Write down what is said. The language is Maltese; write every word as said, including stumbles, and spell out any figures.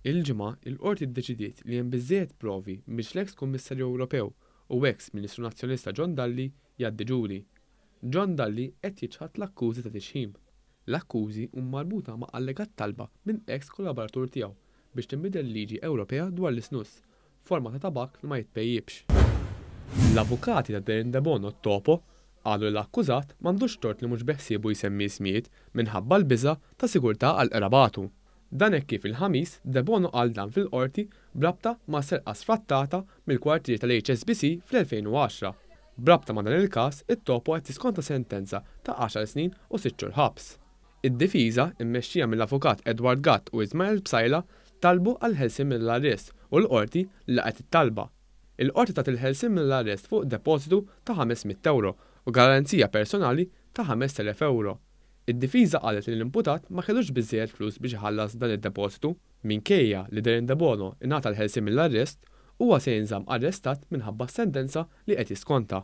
Il-Ġimgħa, il-Qorti ddeċidiet li hemm biżżejjed provi biex l-eks Kummissarju Ewropew u eks Ministru Nazzjonalista John Dalli jgħaddi ġuri. John Dalli qed jiċħad l-akkużi ta' tixħim. L-akkużi huma marbuta ma' allegat talba minn eks kollaboratur tiegħu biex tinbidel liġi Ewropea dwar l-isnus, forma ta' tabak li ma jitpejjipx. L-avukati ta' Darren Debono Topo qalu li l-akkużat m'għandux tort li mhux beħsiebu jsemmi ismijiet minħabba l-biża' ta' sigurtà għal qrabatu. Dan hekk kif il-Ħamis Debono qal dan fil-qorti b'rabta ma' serqa sfrattata mill-kwartieri tal-H S B C fl-elfejn u għaxra. B'rabta ma' dan il-każ, it-Topo qed jiskonta sentenza ta' għaxar snin u sitt xhur ħabs. Id-difiża, immexxija mill-avukat Edward Gatt u Ismael Psaila, talbu għal ħelsien mill-arrest u l-qorti laqgħet it-talba. Il-qorti tat il-ħelsien mill-arrest fuq depożitu ta' ħames mitt euro u garanzija personali ta' ħamest elef euro. Id-difiża qalet li l-imputat ma kellux biżżejjed flus biex iħallas dan id-depożitu. Minkejja li Darren Debono ingħata l-ħelsien mill-arrest, huwa se jinżamm arrestat minħabba s-sentenza li qed jiskonta.